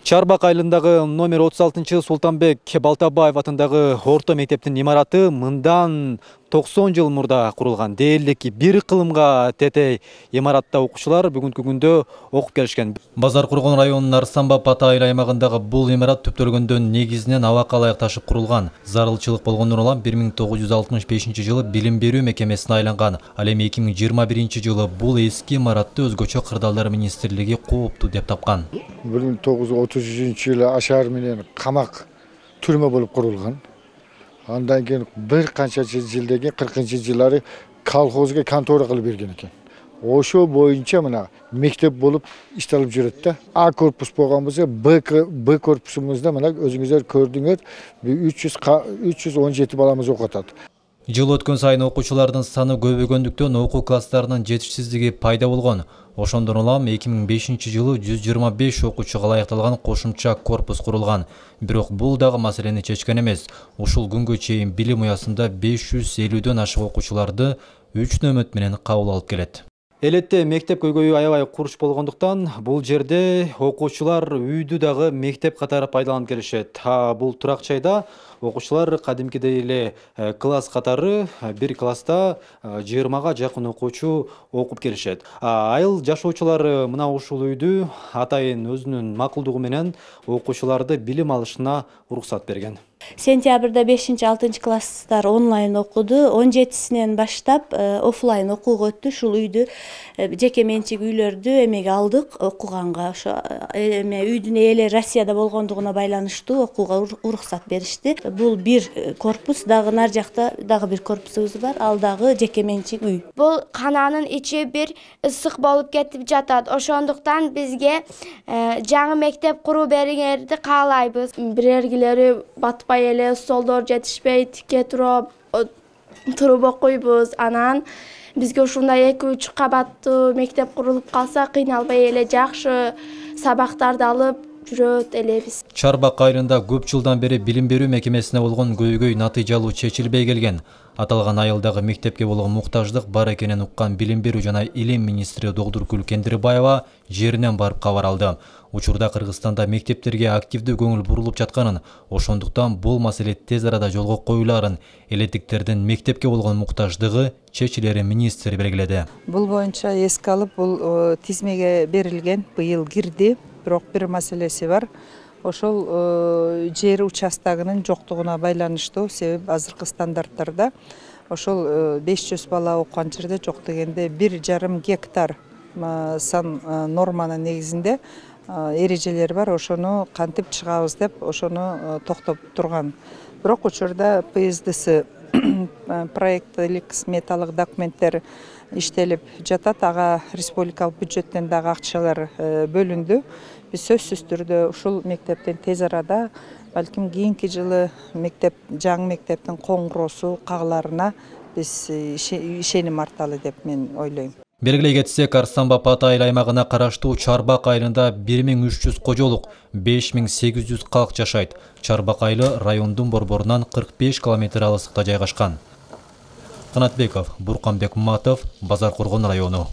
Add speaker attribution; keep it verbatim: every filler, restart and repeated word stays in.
Speaker 1: Чарбак айылындагы номер отуз алтынчы Султанбек Балтабаев атындагы орто мектептин имараты мындан токсон жыл мурда курулган. Дээрлик бир кылымга тетей имаратта окуучулар бүгүнкү күндө окуп келишкен. Базар Кургон районунун Арсанбап айыл аймагындагы бул имарат түптөлгөндөн негизинен абакка ылайык ташып курулган. Зарылчылык болгондон улам бир миң тогуз жүз алтымыш бешинчи жылы билим берүү мекемесине айланган. Ал эми эки миң жыйырма биринчи жылы бул эски имаратты өзгөчө кырдаалдар министрлиги кооптуу деп тапкан.
Speaker 2: бир миң тогуз жүз отуз үчүнчү жылы ашаар менен камак түрмө болуп курулган. Андан кийин бир канча жылдан кийин кыркынчы жылдары колхозго контора кылып берген экен. Ошо боюнча мына мектеп болуп иштелип жүрөт да. А корпус болгон болсо Б Б корпусумузда мына өзүңүздөр көрдүңөр үч жүз он жети баламыз окуп атат.
Speaker 1: Жыл өткөн сайын окуучулардын саны көбөйгөндүктөн окуу класстарынын жетишсиздиги пайда болгон. Ошондон улам эки миң бешинчи жылы жүз жыйырма беш окуучуга ылайыкталган кошумча корпус курулган. Бирок бул дагы маселени чечкен эмес. Ушул күнгө чейин билим уясында беш жүз элүүдөн ашык окуучуларды үч нөмөт менен кабыл алып келет. Элетте мектеп көйгөйү аябай курч болгондуктан бул жерде окуучулар үйдү дагы мектеп катары пайдаланып келишет. А бул турак жайда окуучулар кадимкидей эле класс катары бир класста жыйырмага жакын окуучу окуп келишет. Айыл жашоочулары мына ушул үйдү атайын өзүнүн макулдугу менен окуучуларды билим алышына уруксат берген.
Speaker 3: Сентябрда бешинчи алтынчы класстар онлайн окуду, он жетисинен баштап офлайн окууга өттү. Ушул үйдү жеке менчик үйлөрдү эмеге алдык окуганга. Ошо эме үйдүн ээлери Россияда болгондугуна байланыштуу окууга уруксат беришти. Бул бир корпус, дагы нар жакта дагы бир корпусубуз бар, ал дагы жеке менчик үй.
Speaker 4: Бул кананын ичи бир ысык болуп кетип жатат. Ошондуктан бизге жаңы мектеп куруу бериңерди каалайбыз. Бирергилери батпай эле, столдор жетишпей, тикке туруп туруп окуйбуз. Анан бизге ушундай эки үч кабаттуу мектеп курулуп калса кыйналбай эле жакшы сабактарды алып жүрөт элебиз.
Speaker 1: Чарбак айылында көп жылдан бери билим берүү мекемесине болгон көйгөй натыйжалуу чечилбей келген. Аталган айылдагы мектепке болгон муктаждык бар экенин уккан билим берүү жана илим министри Догдуркүл Кендирбаева жеринен барып кабар алды. Учурда Кыргызстанда мектептерге активдүү көңүл бурулуп жатканын, ошондуктан бул маселе тез арада жолго коюларын, элеттиктердин мектепке болгон муктаждыгы чечилерин министр белгиледи.
Speaker 5: Бул боюнча эске алып, бул тизмеге берилген, быйыл кирди. Бирок бир маселеси бар. Ошол жер участогунун жоктугуна байланыштуу, себеби азыркы стандарттарда ошол беш жүз бала окуган жерде жок дегенде бир жарым гектар сан норманын негизинде эрежелер бар. Ошону кантип чыгабыз деп ошону токтоп турган. Бирок учурда П С Д С проекттик сметалык документтер иштелип жатат. Ага республикалык бюджеттен дагы акчалар бөлүндү. Биз сөзсүз түрдө ушул мектептен тез арада, балким кийинки жылы мектеп, жаңы мектептин коңгуроосу кагаларына биз ишеним арталы деп мен ойлойм.
Speaker 1: Белгилей кетсек, Арсанбап айыл аймагына караштуу Чарбак айылында бир миң үч жүз кожолук, беш миң сегиз жүз калк жашайт. Чарбак айылы райондун борборунан кырк беш километр алыстыкта жайгашкан. Канатбеков, Бурканбек Матов, Базар Кургон району.